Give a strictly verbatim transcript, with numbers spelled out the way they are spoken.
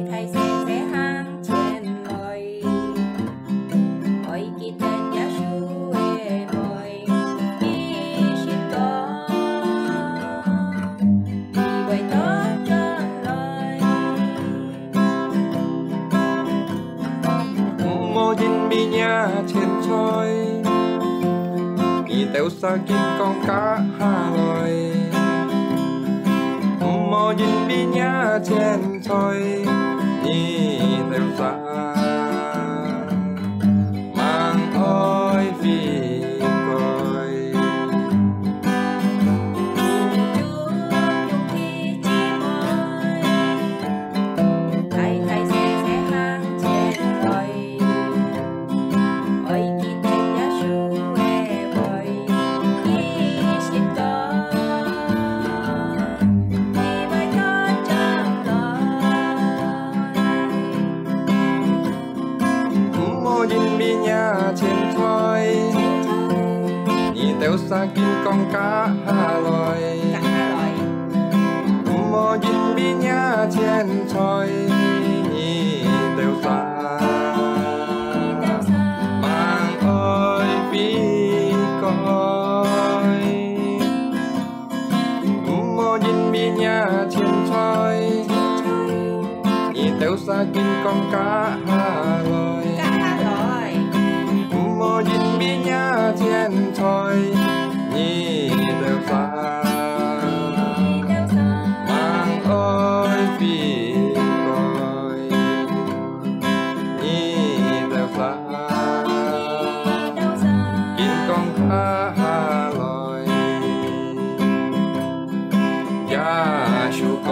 大細細行前來，愛記得耶穌个愛，佢心中，佢會倒轉來。毋好因為若錢財，你兜儕緊降價下來。毋好因為若錢財，你兜儕吂愛悔改。大大細細行前來，愛記得耶穌个愛，佢心中，佢會倒轉來。毋好因為若錢財，你兜儕緊降價下來。毋好因為若錢財，你兜儕吂愛悔改。毋好因為若錢財，你兜儕緊降價下來。毋好因為若錢財，你兜儕吂愛悔改。你兜儕緊降價下來。耶穌講，